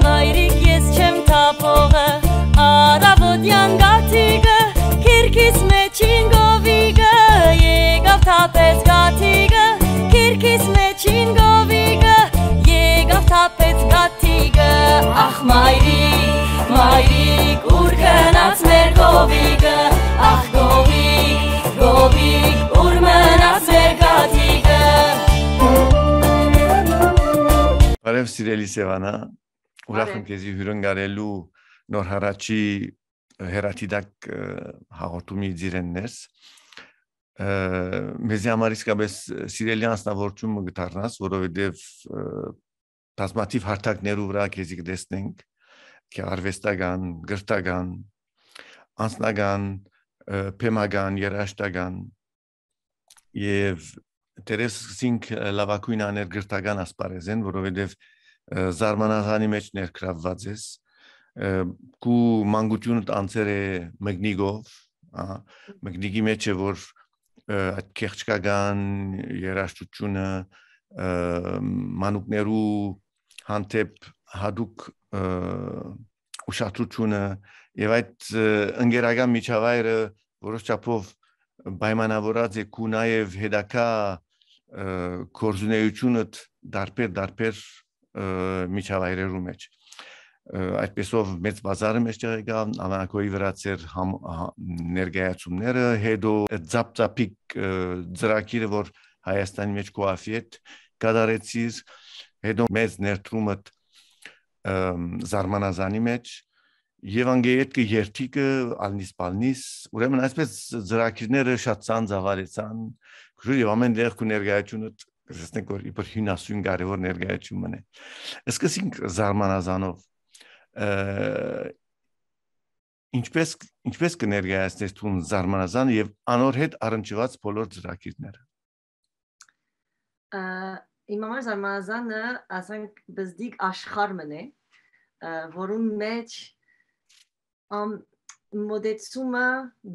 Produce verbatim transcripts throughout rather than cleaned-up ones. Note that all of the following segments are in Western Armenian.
Մայրիկ, ես չեմ թափողը, առավոտեան գաթիկը, քիրքիս մեջին գովիկը, եկաւ թափեց գաթիկը, քիրքիս մեջին գովիկը, եկաւ թափեց գաթիկը։ Ախ, մայրիկ, մայրիկ, ո՞ւր գնաց մեր գովիկը, ախ, գովիկ, գովիկ, ո՞ւր մնաց մեր գաթիկը։ Բարև, սիրելի Սեւանա, ուրախ եմ Բարև։ քեզի հյուրընկալելու Նոր Հարաճի հեռադիտակ, ը, հաղորդումի ծիրէն ներս։ Ը, մեզի համար իսկապես սիրելի անձնավորություն մը կը դառնաս, որովհետև, ը, բազմաթիւ հարթակներու վրայ քեզի կը տեսնենք, գեղարուեստական, կրթական, անձնական, ը, բեմական, երաժշտական, եւ դեռ սկսինք, ը, լաւագոյն աներ կրթական ասպարեզէն, որովհետեւ, ը, զարմանազանի մէջ ներգրավուած ես, ը, քու մանկութիւնդ անցեր է Մկնիկով, ա, Մկնիկի մէջ է, որ, ը, այդ գեղջկական երաժշտությունը, ը, մանուկներու հանդէպ յատուկ, ը, ուշադրությունը եւ այդ, ը, ընկերական միջավայրը որոշ չափով պայմանավորած է քու նաեւ հետագայ, ը, գործունեությունդ տարբեր, տարբեր, ը, միջավայրերու մէջ։ Ը, այդպեսով Մեծ Պազարը մէջտեղ եկաւ, Ալանագոյի վրայ ձեր համ-, հա-, ներկայացումները, հետո Ձապ Ձապիկ, ը, ծրագիրը, որ Հայաստանի մէջ քո աֆի հետ կատարեցիր, հետո մեծ ներդրումդ, ը, Զարմանազանի մէջ, եւ անգէ ետքը երթիքը, ալնիս-պալնիս, ուրեմն այսպես ծրագիրները շատ ծանր ծաւալեցան, քուր եւ ամեն տեղ քու ներկայությունը, կստեսնենք, որ իբր հիւնասուն կարեւոր ներկայություն մնե։ Սկսենք Զարմանազանով։ Ը, ինչպես, ինչպես կը ներկայացնես դուն Զարմանազանը եւ անոր հետ առնչուած բոլոր ծրագիրները։ Ա, իմ համար Զարմանազանը, ասենք, բզդիկ աշխարհ մն է, ա, որուն մէջ ամ-, մոտեցումը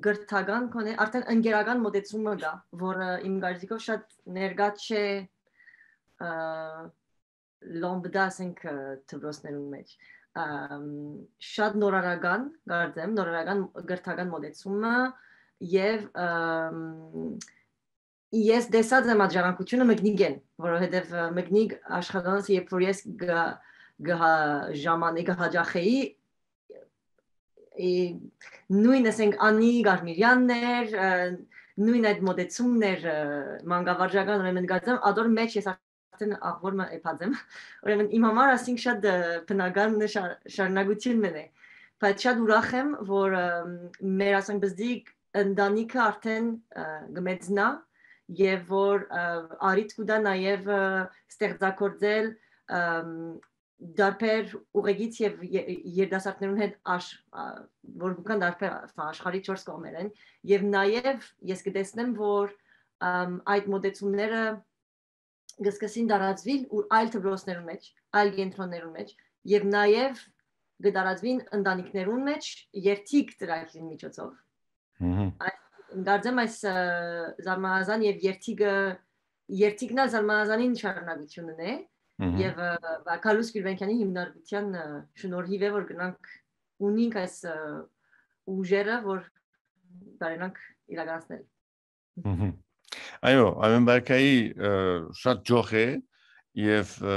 կրթական կոնե, արդեն ընկերական մոտեցումը կա, որը իմ կարծիքով շատ ներկայ չէ, ա, լոմբդա, ասենք, ա, դպրոցներուն մէջ։ Ամ, շատ նորարական, կարծեմ, նորարական կրթական մոտեցումը եւ, ամ, ես տեսած եմ այդ ժառանգությունը Մկնիկէն, որովհետեւ, ը, Մկնիկ աշխատանքը, երբ որ ես գ-, գ-, հա-, ժամանե-, գ-, հաճախեի, ը, նոյն, ասենք, Անի Գարմիրեանն էր, ը, նոյն այդ մոտեցումն էր, ը, մանկավարժական, ուրեմն գացեմ, ադոր մէջ ես արդեն աղբոր մը էփած եմ։ Ուրեմն իմ համար, ասենք, շատ, ը, բնական շա-, շարունակություն մն է, բայց շատ ուրախ եմ, որ, ը, մեր, ասենք, բզդիկ ընտանիքը արդեն, ը, կմեծնայ եւ որ, ը, առիթ կու տայ նաեւ, ը, ստեղծագործել, ըմ, տարբեր ուղեգից եւ ե-, երիտասարդներուն հետ աշ-, ա, որ կան տարբեր, ա, աշխարհի չորս կողմերէն, եւ նաեւ ես կտեսնեմ, որ, ըմ, այդ մոտեցումները կսկսին տարածուիլ ու այլ դպրոցներուն մէջ, այլ կենտրոններուն մէջ, եւ նաեւ կը տարածուին ընտանիքներուն մէջ երթիկ ծրագիրին միջոցով։ Մհմ։ Այս, կարծեմ այս, ը, Զարմանազան եւ երթիկը, երթիկն ալ Զարմանազանին շարունակությունն է, Մհմ։ եւ, ը, Գալուս Գիլբենկյանի հիմնարկության, ը, շնորհիվ է, որ գնանք ունինք այս, ը, ուժերը, որ կարենանք իրականացնել։ Մհմ։ Այո, Արմեն Բարքայի, ը, շատ ճոխ է եւ, ը,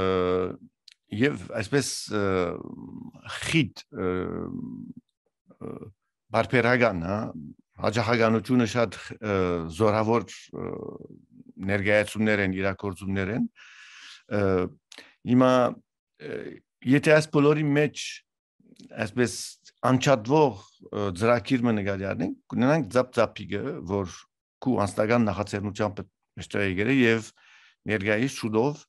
եւ այսպես, ը, խիտ, ը, ը, բարբերական, հա, հաճախականությունը շատ, ը, զորավոր, ը, ներկայացումներ են, իրագործումներ են։ Ը, հիմա, ը, եթե այս բոլորի մեջ այսպես անջատվող, ը, ծրագիր մը նկատի առնենք, կունենանք Ձապ Ձապիկը, որ քու անձնական նախաձեռնությամբ մէջտեղ եկել է եւ ներկայիս շուտով,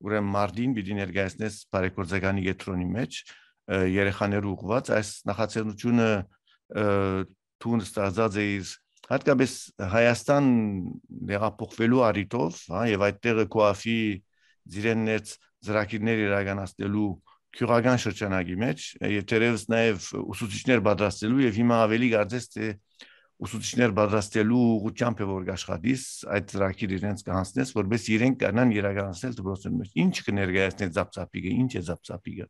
ուրեմն մարտին պիտի ներկայացնես բարեգործականի կեդրոնի մեջ, երեխաներու ուղղուած։ Այս նախաձեռնությունը, ը, դուն ստեղծած էիր հատկապես Հայաստան հեղափոխվելու առիթով, հա, եւ այդտեղը քոաֆի, ձիրեն ներս ծրագիրներ իրականացնելու գիւղական շրջանակի մեջ, եւ թերեւս նաեւ ուսուցիչներ պատրաստելու, եւ հիմա ավելի կարծես թէ ուսուցիչներ պատրաստելու ուղղությամբ է որ կաշխատիս, այդ ծրագիր իրենց կհանձնես, որպեսզի իրենք կարենան իրականացնել դպրոցներու մեջ։ Ինչ կներկայացնի Ծապծապիկը, ինչ է Ծապծապիկը։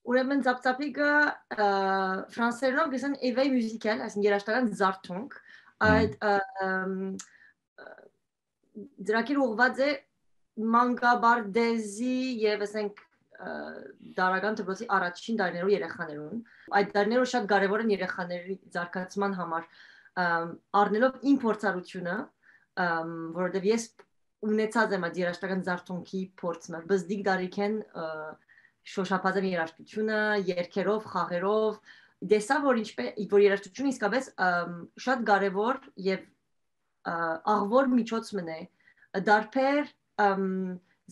Ուրեմն Ծապծապիկը, ը, ֆրանսերենով կ'ըսեն éveil musical, այսինքն երաժշտական զարթոնք, այդ, ը, ըմ, ը, ծրագիրը ուղղված է մանկապարտեզի եւ, ասենք, ը, տարրական դպրոցի առաջին տարիներու երեխաներուն։ Այդ տարիները շատ կարեւոր են երեխաների զարգացման համար, ըմ, առնելով իմ փորձառությունը, ըմ, որովհետեւ ես ունեցած եմ այդ երաժշտական զարթոնքի փորձը, բզդիկ տարիքէն, ը, շոշափած եմ երաժշտությունը, երգերով, խաղերով, տեսա, որ ինչպե-, որ երաժշտությունը իսկապես, ըմ, շատ կարեւոր եւ, ը, աղվոր միջոց մըն է, դարբեր, ըմ,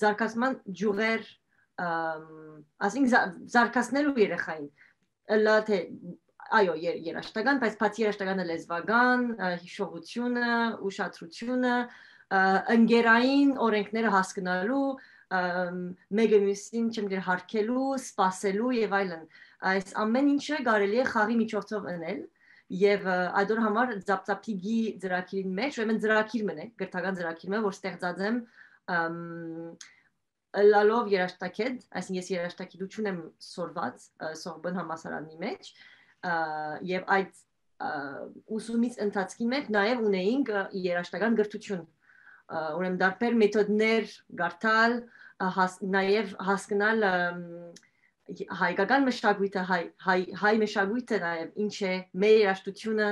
զարգացման ջուղեր, ըմ, ասենք զա-, զարգացնելու երեխային, ըլլայ թէ, այո, եր-, երաժշտական, բայց բացի երաժշտականը լեզուական, ը, յիշողությունը, ուշադրությունը, ը, ընկերային օրենքները հասկնալու, ըմ, մեկը մյուսին, չեմ գիտեր, հարգելու, սպասելու եւ այլն։ Այս ամեն ինչը կարելի է խաղի միջոցով ընել, եւ, ը, այդ օր համար Ծապծապիկի ծրագիրին մեջ, ուրեմն ծրագիր մըն է, կրթական ծրագիր մը, որ ստեղծած եմ, ըմ, ըլլալով երաժշտագետ, այսինքն ես երաժշտագիտություն եմ սորված, ը, Սորբոն համալսարանի մեջ, ը, եւ այդ, ը, ուսումից ընթացքին մեջ նաեւ ունեինք, ը, երաժշտական կրթություն, ը, ուրեմն դարբեր մեթոդներ կարդալ, ը, հաս-, նաեւ հասկնալ, ըմ, հայկական մշակոյթը, հայ, հայ, հայ մշակոյթը նաեւ ինչ է, մեր երաժշտությունը,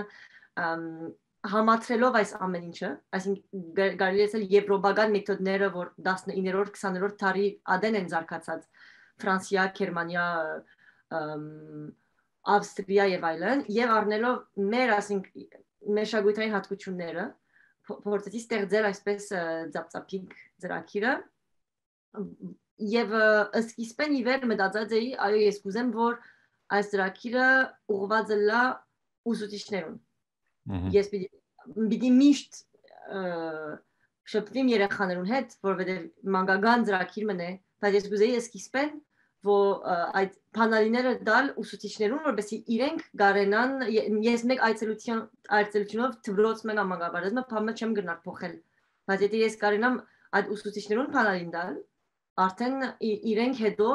ըմ, համադրելով այս ամեն ինչը, այսինքն գա-, կարելի է ասել եվրոպական մեթոդները, որ տասնիններորդ, քսաներորդ դարի ատեն են զարգացած Ֆրանսիա, Գերմանիա, ըմ, Ավստրիա եւ այլն, եւ առնելով մեր, ասենք, մշակութային հատկությունները, փ-, փորձեցի ստեղծել այսպես, ը, Ծապծապիկ ծրագիրը, եւ, ը, սկիզբէն ի վեր մտածած էի, այո, ես կուզեմ, որ այս ծրագիրը ուղղված ըլլայ ուսուցիչներուն։ Մհմ։ Ես պիտի, պիտի միշտ, ը, շփվիմ երեխաներուն հետ, որովհետեւ մանկական ծրագիր մըն է, բայց ես կուզեի սկիզբէն, որ, ը, այդ բանալիները տալ ուսուցիչներուն, որպեսզի իրենք կարենան, ե-, ես մեկ այցելության, այցելությունով դպրոց մը կամ մանկապարտեզ մը, բան մը չեմ կրնար փոխել, բայց եթե ես կարենամ այդ ուսուցիչներուն բանալին տալ, արդեն ի-, իրենք հետո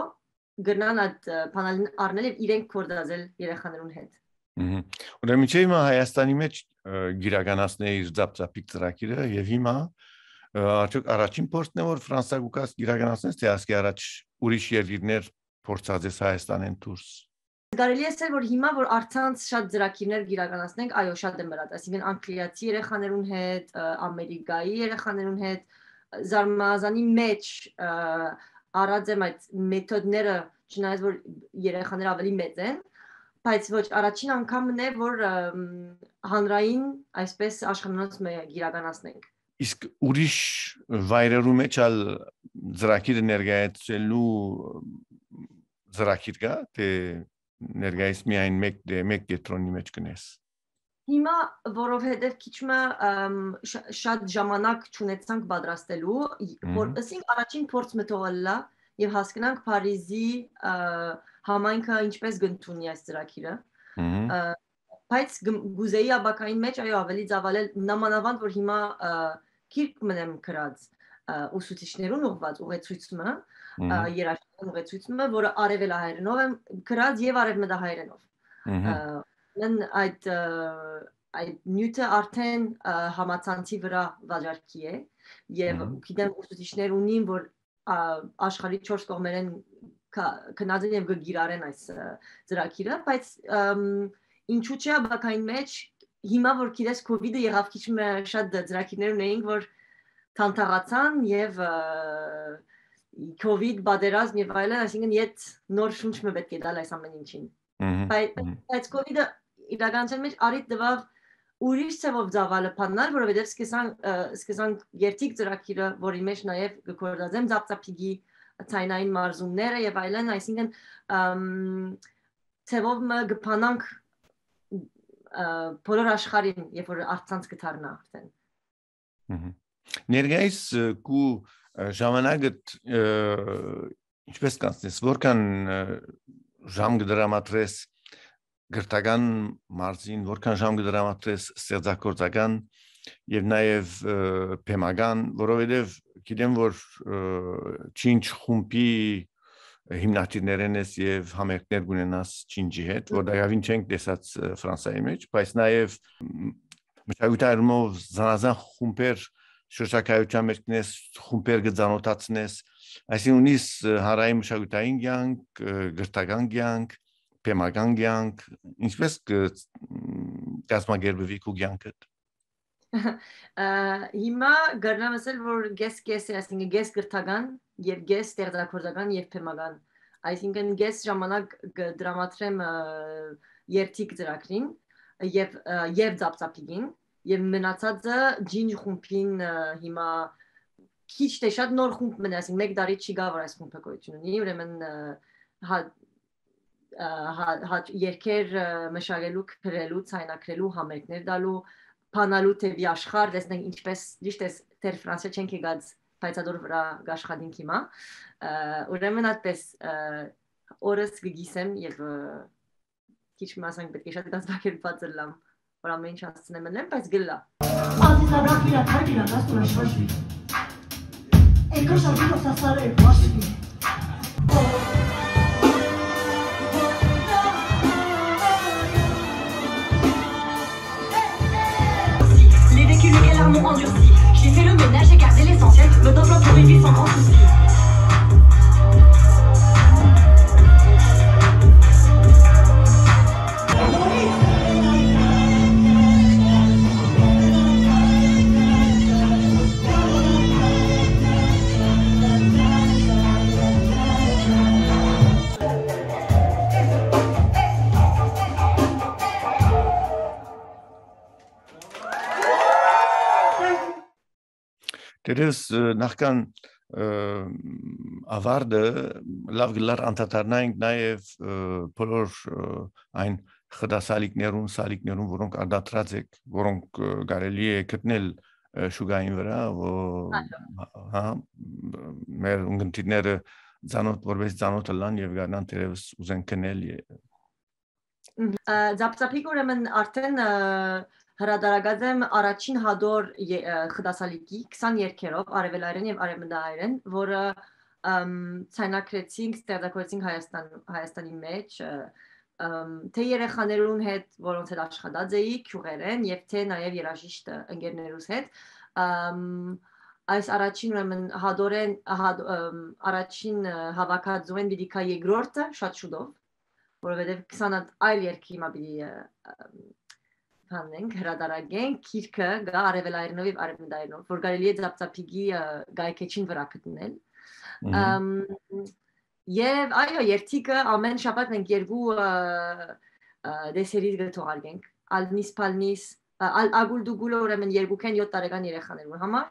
կրնան այդ, ը, բանալին առնել եւ իրենք գործածել երեխաներուն հետ։ Մհմ։ Ուրեմն, մինչեւ հիմա Հայաստանի մեջ, ը, գիրականացնէ իր Ծապծապիկ ծրագիրը, եւ հիմա, ը, արդյոք առաջին փորձն է, որ Ֆրանսա կու գաս գիրականացնես, թէ ասկէ առաջ ուրիշ երկիրներ փորձած ես Հայաստանէն դուրս։ Կարելի է ասել, որ հիմա, որ առցանց շատ ծրագիրներ գիրականացնենք, այո, շատ եմ ըրած, այսինքն անգլիացի երեխաներուն հետ, ը, ամերիկայի երեխաներուն հետ, ը, զարմազանի մեջ, ը, առած եմ այդ մեթոդները, չնայած որ երեխաները ավելի մեծ են, բայց ոչ, առաջին անգամն է, որ, ըմ, հանրային այսպես աշխարհանոց մը գիրականացնենք։ Իսկ ուրիշ վայրերու մեջ ալ ծրագիրը ներկայացնելու ծրագիր կա, թէ ներկայիս միայն մեկ դե-, մեկ կեդրոնի մեջ կնես։ Հիմա, որովհետև քիչ մը, ըմ, շա-, շատ ժամանակ չունեցանք պատրաստելու, ի-, որ Մհմ։ ըսինք առաջին փորձ մը թող ըլլայ եւ հասկնանք Փարիզի, ը, համայնքը ինչպես կընդունի այս ծրագիրը։ Մհմ։ Ը, բայց գ-, գուզեի ապագային մեջ, այո, ավելի ծավալել, նամանավանդ որ հիմա, ը, գիրք մնեմ գրած, ը, ուսուցիչներուն ուղղված ուղեցույց մը, ը, Մհմ։ երաժշտական ուղեցույց մը, որը արևելահայերենով եմ գրած եւ արևմտահայերենով։ Մհմ։ Ը, մեն այդ, ը, այդ նիւթը արդեն, ը, համացանցի վրա վաճառքի է, եւ Մհմ։ գիտեմ, ուսուցիչներ ունին, որ, ա, աշխարհի չորս կողմերեն կա-, գնած են եւ կը գիրառեն այս, ը, ծրագիրը, բայց, ըմ, ինչու՞ չէ, ապագային մեջ, հիմա որ գիտես, COVID-ը եղաւ, քիչ մը շատ ծրագիրներ ունեինք, որ թանթաղացան եւ, ը, COVID, պատերազմ եւ այլն, այսինքն՝ ետ նոր շունչ մը պէտք է տալ այս ամեն ինչին։ Մհմ, Բայց, մհմ։ բայց COVID-ը իրականության մեջ առիթ տուաւ ուրիշ ձեւով ծավալը բանալ, որովհետեւ սկսան-, ը, սկսանք երթիկ ծրագիրը, որի մեջ նաեւ կը գործածեմ Ծապծապիկի, ցայնային մարզումները եւ այլն, այսինքն, ըմ, ձեւով մը կը բանանք, ը, բոլոր աշխարհին, երբ որ առցանց կը դառնայ արդեն։ Մհմ։ Ներկայիս, ը, կու, ը, ժամանակդ, ը, ինչպես կանցնես, որքան, ը, ժամ կը դրամատրես կրթական մարզին, որքան ժամ կը դրամատրես ստեղծագործական եւ նաեւ, ը, բեմական, որովհետեւ գիտեմ, որ, ը, Չինչ խումբի հիմնադիրներէն ես եւ համերգներ կունենաս Չինչի հետ, որ դակավին չենք տեսած, ը, Ֆրանսայի մեջ, բայց նաեւ, մ, մշակութային առումով զանազան խումբեր, շրջագայութեան մէջ կնես, խումբեր կը ծանօթացնես, այսինքն ունիս, ը, հանրային մշակութային կեանք, ը, կրթական կեանք, բեմական կեանք, ինչպես կը, մ, կազմակերպուի քու կեանքդ։ Ա, հիմա կրնամ ասել, որ կես-կես է, այսինքն կես կրթական եւ կես ստեղծագործական եւ բեմական։ Այսինքն կես ժամանակ կը դրամատրեմ, ը, երթիկ ծրագրին եւ, ը, եւ ծապծապիկին, եւ մնացածը Չինչ խումբին, ը, հիմա քիչ թե շատ նոր խումբ մնա, այսինքն մեկ տարի չի գա, որ այս խումբը գոյություն ունի, ուրեմն, ը, հա-, ը, հա-, հա-, երկեր, ը, մշակելու, գրելու, ցայնագրելու, համերգներ տալու, բանալու դեպի աշխարհ, տեսնենք ինչպես, ճիշդ ես, դեռ Ֆրանսիա չենք եկած, բայց ադոր վրայ կաշխատենք հիմա։ Ը, ուրեմն այդպես, ը, օրս կը գիսեմ եւ, ը, քիչ մը ասենք պէտք է շատ կազմակերպված ըլլամ, որ ամեն ինչ հասցնեմ ըլլեմ, բայց գլլա։ Aziz Abrahmira Tarbira Nastura Şaşmir. Ekosha Viro Sasare Başmir. Les vécus, le cœur m'ont endurci. J'ai fait le ménage, j'ai gardé l'essentiel. Me donne pour une vie sans grand souci. Դերս, ը, նախքան, ը, ավարտը լաւ գլար անդադարնայինք նաև, ը, բոլոր, ը, այն խտասալիկներուն, սալիկներուն, որոնք արտադրած եք, որոնք, ը, կարելի է գտնել, ը, շուկային վրա, ո-, Այո։ հա, մեր ունգընտիրները ծանոթ, որպես ծանոթ ըլլան եւ գարնան դերևս ուզեն գնել ե-, Մհմ։ Ը, Ձապձապիկ ուրեմն արդեն, ը, հրատարակած եմ առաջին հատոր ե-, ը, խտասալիկի քսան երկերով, արևելայերեն եւ արևմտայերեն, որը, ըմ, ցայնագրեցինք, ստեղծագործեցինք Հայաստան, Հայաստանի մեջ, ը, ըմ, թէ երեխաներուն հետ, որոնց հետ աշխատած էի, գիւղերէն, եւ թէ նաեւ երաժիշտ, ը, ընկերներուս հետ։ Ըմ, այս առաջին ուրեմն հատորեն, հատ-, ըմ, առաջին, ը, հավաքածուէն պիտի գայ երկրորդը շատ շուտով, որովհետեւ քսան հատ այլ երկրի մը պիտի, ը, ը, բանենք, հրատարակենք, գիրքը գայ արևելայերենով եւ արևմտայերենով, որ կարելի է Ձապձապիկի, ը, կայքէջին վրա գտնել։ Մհմ։ Ըմ, եւ այո, երթիկը ամեն շաբաթ մենք երկու, ը, ը, դեսերի կը թողարկենք, Ալնիս Պալնիս, ը, Ալ Ագուլ Դուգուլը, ուրեմն երկուքէն յոթ տարեկան երեխաներուն համար,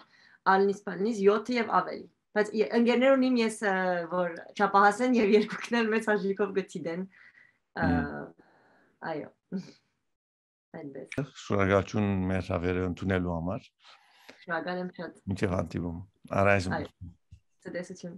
Ալնիս Պալնիս յոթը եւ աւելի։ Բայց ե-, ընկերներ ունիմ ես, ը, որ չափահաս են եւ երկուքն էլ մեծ հաճույքով կը դիտեն։ Ը, Մհմ։ Այո։ Այնպես։ Շնորհակալություն մեր հավերը ընդունելու համար։ Շնորհակալ եմ շատ։ Մինչև հանդիպում։ Առայժմ։ Այո։ Ցտեսություն։